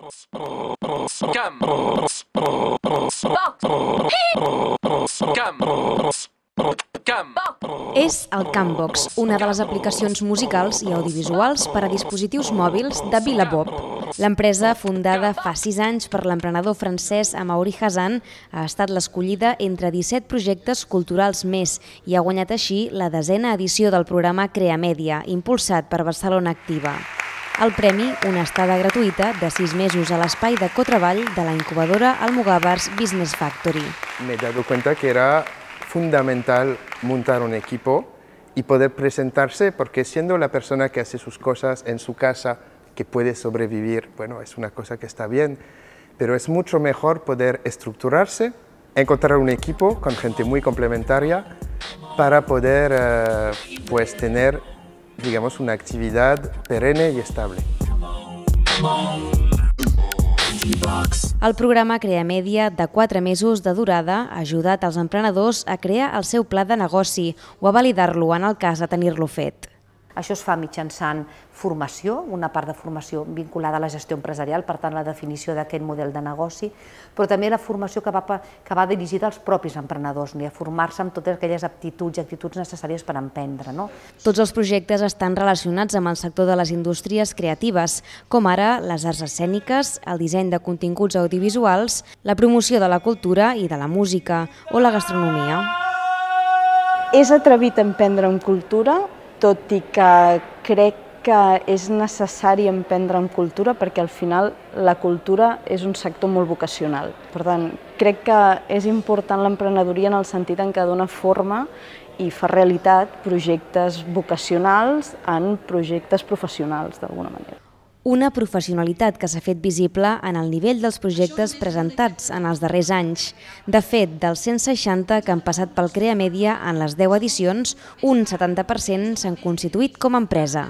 És el Cambox, una de les aplicacions musicals i audiovisuals per a dispositius mòbils de Vilabob. L'empresa, fundada fa 6 anys per l'emprenedor francès Amaury Hazan, ha estat l'escollida entre 17 projectes culturals més i ha guanyat així la 10a edició del programa Creamèdia, impulsat per Barcelona Activa. El premi, una estada gratuïta de 6 mesos a l'espai de cotreball de la incubadora Almogàvers Business Factory. Me he dado cuenta que era fundamental montar un equipo y poder presentarse, porque siendo la persona que hace sus cosas en su casa, que puede sobrevivir, bueno, es una cosa que está bien, pero es mucho mejor poder estructurarse, encontrar un equipo con gente muy complementaria para poder pues tener, digamos, una actividad perenne y estable. El programa Creamèdia, de 4 mesos de durada, ha ajudat els emprenedors a crear el seu pla de negoci o a validar-lo en el cas de tenir-lo fet. Això es fa mitjançant formació, una part de formació vinculada a la gestió empresarial, per tant la definició d'aquest model de negoci, però també la formació que va dirigida als propis emprenedors, a formar-se amb totes aquelles aptituds necessàries per emprendre. Tots els projectes estan relacionats amb el sector de les indústries creatives, com ara les arts escèniques, el disseny de continguts audiovisuals, la promoció de la cultura i de la música o la gastronomia. És atrevit emprendre en cultura, tot i que crec que és necessari emprendre en cultura perquè al final la cultura és un sector molt vocacional. Per tant, crec que és important l'emprenedoria en el sentit en què dona forma i fa realitat projectes vocacionals en projectes professionals, d'alguna manera. Una professionalitat que s'ha fet visible en el nivell dels projectes presentats en els darrers anys. De fet, dels 160 que han passat pel Creamèdia en les 10 edicions, un 70% s'han constituït com a empresa.